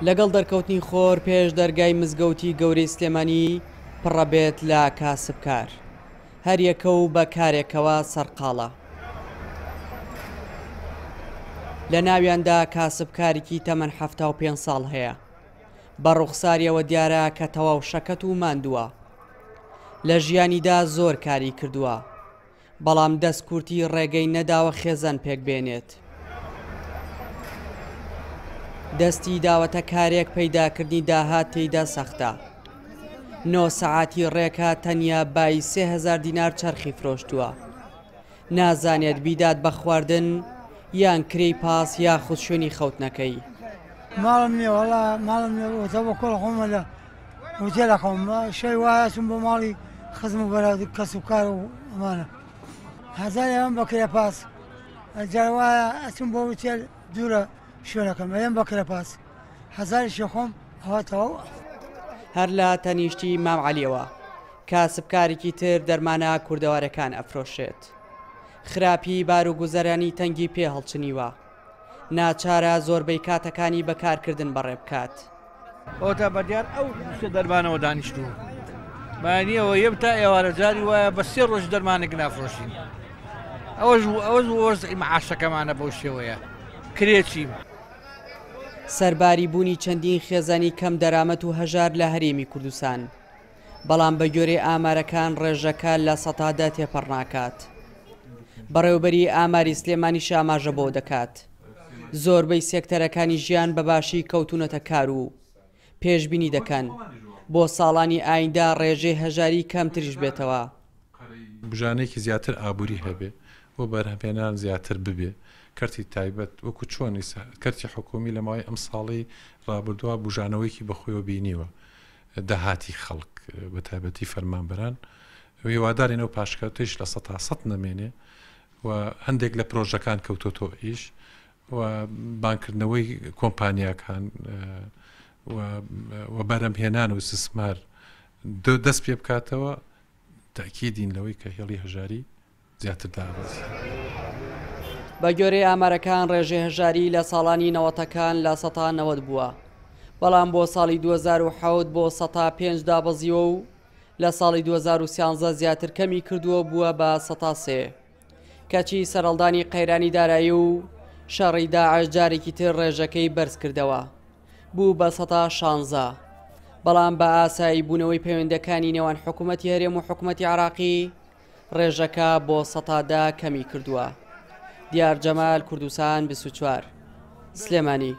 لەگەڵ دەرکەوتنی خۆر پێش دەرگای مزگەوتی گەورەی سلێمانی پڕەبێت لە کاسبکار. هەریەکە و بە کارێکەوە سەرقاڵە. لە ناویاندا کاسبکارێکی تەمەن 75 ساڵ هەیە. بە ڕوخساریەوە دیارە کە تەواو شەکەت و ماندووە. لە ژیانیدا زۆر کاری کردووە. بەڵام دەست کورتی ڕێگەی نەداوە خێزان پێک بێنێت. دەستی داوەتە کارێک پەیداکردنی داهات تێیدا سەختە. 9 سەعاتی ڕێکە تەنیا بای 3000 دینار چەرخی فرۆشتووە. نازانێت بیدات بە خواردن یان کرێی پاس یاخود شوێنی خەوتنەکەی. ماڵم نییە وەڵا ماڵم نییە وتە بە کۆڵ خۆمە لە هوتێلە خەوم شەوی وایە چووم بۆ ماڵی خزم و بەراد و کەس و کار و ئەمانە هەزار ئێمە بە کرێ پاس جار وایە ئەچم بۆ هوتێل دوورە شوێنەکەم ئەیەم بە کرێ پاس هەزاریشی خۆم ئەوە تەواو. هەر لە تەنیشتی مام عەلیەوە کاسبکارێکی تر دەرمانە کوردەوارەکان ئەفرۆشێت. خراپی باروگوزەرانی تەنگی پێ هەڵچنیوە. ناچارە زۆربەی کاتەکانی بە کارکردن بەڕێ بکات. ئەوەتا بەدیار ئەو سێ دەرمانەوە دانیشتووم. بەیانیەوە یەم تا ئێوارە جاری وایە بە سێ ڕۆژ دەرمانێک نافرۆشین. ئەوەش ئەوەش وەزعی مەعاشەکەمانە بەو شێوەیە. کرێچیم. سەرباری بوونی چەندین خێزانی کەم دەرامەت و هەژار لە هەرێمی کوردستان، بەڵام بەگوێرەی ئامارەکان ڕێژەکە 10% تێپەڕ ناکات. بەڕێوەبەری ئاماری سلێمانیش ئاماژە بەوە دەکات، زۆربەی سێکتەرەکانی ژیان بە باشی کەوتوونەتە کار و پێشبینی دەکەن بۆ ساڵانی ئایندە ڕێژەی هەژاری کەمتریش بێتەوە. بژانێکی زیاتر ئابووری هەبێ و بەرهەمهێنان زیاتر ببێ، کەرتی تایبەت وەکو چۆن ئیستا کەرتی حکوومی لە ماوەی ئەم ساڵەی ڕابردووە بوژانەوەیەکی بەخۆیەوە بینیوە، داهاتی خەڵک بە تایبەتی فەرمانبەران هیوادارین ئەو پاشکەوتەیش 100% نەمێنێ و هەندێک لە پرۆژەکان کەوتۆتەوە ئیش و بانکردنەوەی کۆمپانیاکان و بەرەمهێنان و ئیستسمار دەست پێ بکاتەوە تەئکیدین لەوەی کە هێڵی هەژاری زیاتر دابەزی. بە گوێرەی ئامارەکان ڕێژەی هەژاری لە ساڵانی نەوەتەکان 90% بووە، بەڵام بۆ ساڵی 2007 بۆ 5% دابەزیوە و لە ساڵی 2013 زیاتر کەمی کردووە بووە بە 3%. کەچی سەرهەڵدانی قەیرانی دارایی و شەڕی داعش جارێکی تر ڕێژەکەی بەرز کردەوە بوو بە 16%. بەڵام بە ئاسایی بوونەوەی پەیوەندەکانی نێوان حکوومەتی هەرێم و حکوومەتی عراقی ڕێژەکە بۆ 10% کەمی کردووە. دیار جەمال، کوردستان 24، سلێمانی.